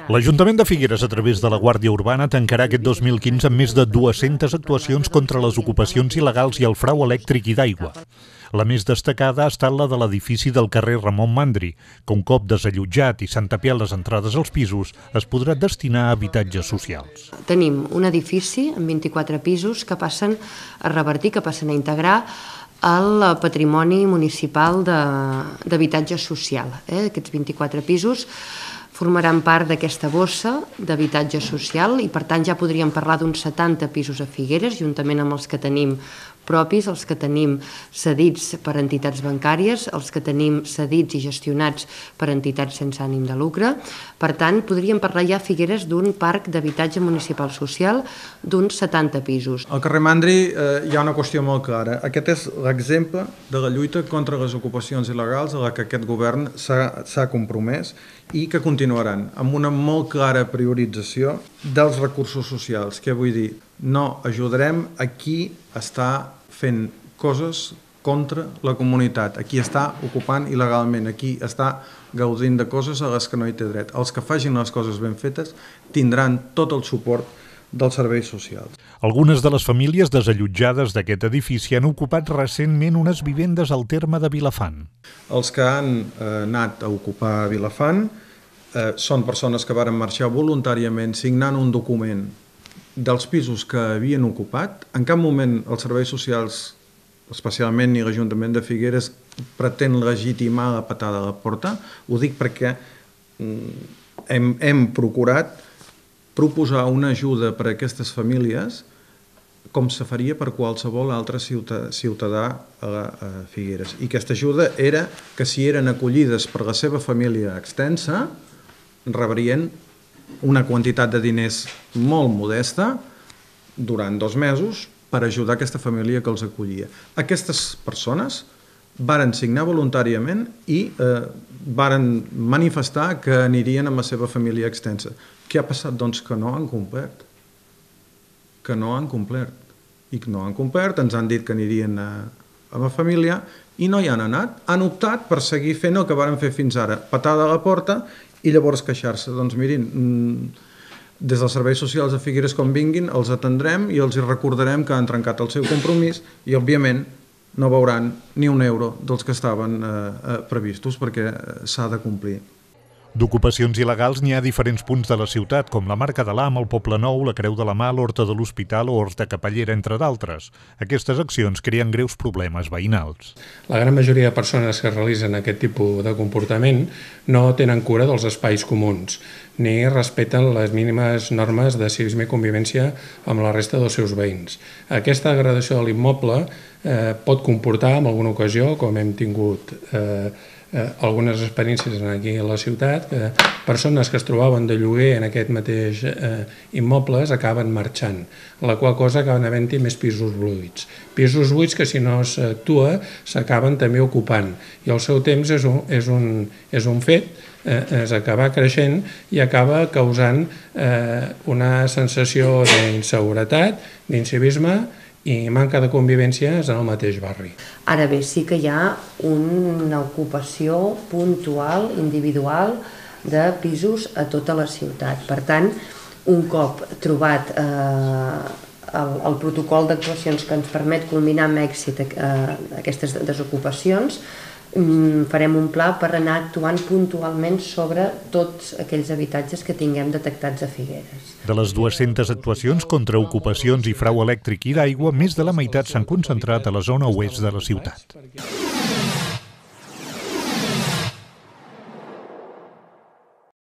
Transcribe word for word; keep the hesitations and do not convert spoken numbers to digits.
L'Ajuntament de Figueres, a través de la Guàrdia Urbana, tancarà aquest dos mil quinze amb més de dues-centes actuacions contra les ocupacions il·legals i el frau elèctric i d'aigua. La més destacada ha estat la de l'edifici del carrer Ramon Mandri, que un cop desallotjat i s'han tapiat les entrades als pisos, es podrà destinar a habitatges socials. Tenim un edifici amb vint-i-quatre pisos que passen a revertir, que passen a integrar el patrimoni municipal d'habitatge social. Eh? Aquests vint-i-quatre pisos formaran part d'aquesta bossa d'habitatge social i per tant ja podríem parlar d'uns setanta pisos a Figueres, juntament amb els que tenim propis, els que tenim cedits per entitats bancàries, els que tenim cedits i gestionats per entitats sense ànim de lucre. Per tant, podríem parlar ja a Figueres d'un parc d'habitatge municipal social d'uns setanta pisos. Al carrer Mandri eh, hi ha una qüestió molt clara. Aquest és l'exemple de la lluita contra les ocupacions il·legals a la que aquest govern s'ha compromès i que continuaran amb una molt clara priorització dels recursos socials. Què vull dir? No ajudarem a qui està fent coses contra la comunitat, a qui està ocupant il·legalment, a qui està gaudint de coses a les que no hi té dret. Els que facin les coses ben fetes tindran tot el suport dels serveis socials. Algunes de les famílies desallotjades d'aquest edifici han ocupat recentment unes vivendes al terme de Vilafant. Els que han eh, anat a ocupar Vilafant eh, són persones que varen marxar voluntàriament signant un document dels pisos que havien ocupat. En cap moment els serveis socials, especialment ni l'Ajuntament de Figueres, pretén legitimar la patada a la porta. Ho dic perquè hem, hem procurat proposar una ajuda per a aquestes famílies com se faria per qualsevol altre ciutadà, ciutadà a, a Figueres. I aquesta ajuda era que si eren acollides per la seva família extensa, rebrien una quantitat de diners molt modesta durant dos mesos per ajudar aquesta família que els acollia. Aquestes persones varen signar voluntàriament i eh, varen manifestar que anirien amb la seva família extensa. Què ha passat? Doncs que no han complert. Que no han complert. I que no han complert, ens han dit que anirien a, a la família i no hi han anat. Han optat per seguir fent el que varen fer fins ara, patada a la porta i llavors queixar-se. Doncs mirin, des dels serveis socials de Figueres com vinguin, els atendrem i els recordarem que han trencat el seu compromís i, òbviament, no veuran ni un euro dels que estaven eh, previstos perquè s'ha de complir. D'ocupacions il·legals n'hi ha a diferents punts de la ciutat, com la Marca de l'Am, el Poble Nou, la Creu de la Mà, l'Horta de l'Hospital o Horta Capellera, entre d'altres. Aquestes accions creen greus problemes veïnals. La gran majoria de persones que realitzen aquest tipus de comportament no tenen cura dels espais comuns, ni respecten les mínimes normes de civisme i convivència amb la resta dels seus veïns. Aquesta degradació de l'immoble eh, pot comportar, en alguna ocasió, com hem tingut eh, Eh, algunes experiències aquí a la ciutat, que persones que es trobaven de lloguer en aquest mateix eh, immobles acaben marxant, la qual cosa acaben havent-hi més pisos buits. Pisos buits que si no s'actua s'acaben també ocupant i el seu temps és un, és un, és un fet, eh, és acabar creixent i acaba causant eh, una sensació d'inseguretat, d'incivisme i manca de convivències en el mateix barri. Ara bé, sí que hi ha una ocupació puntual, individual, de pisos a tota la ciutat. Per tant, un cop trobat eh, el, el protocol d'actuacions que ens permet culminar amb èxit eh, aquestes desocupacions, farem un pla per anar actuant puntualment sobre tots aquells habitatges que tinguem detectats a Figueres. De les dues-centes actuacions contra ocupacions i frau elèctric i d'aigua, més de la meitat s'han concentrat a la zona oest de la ciutat.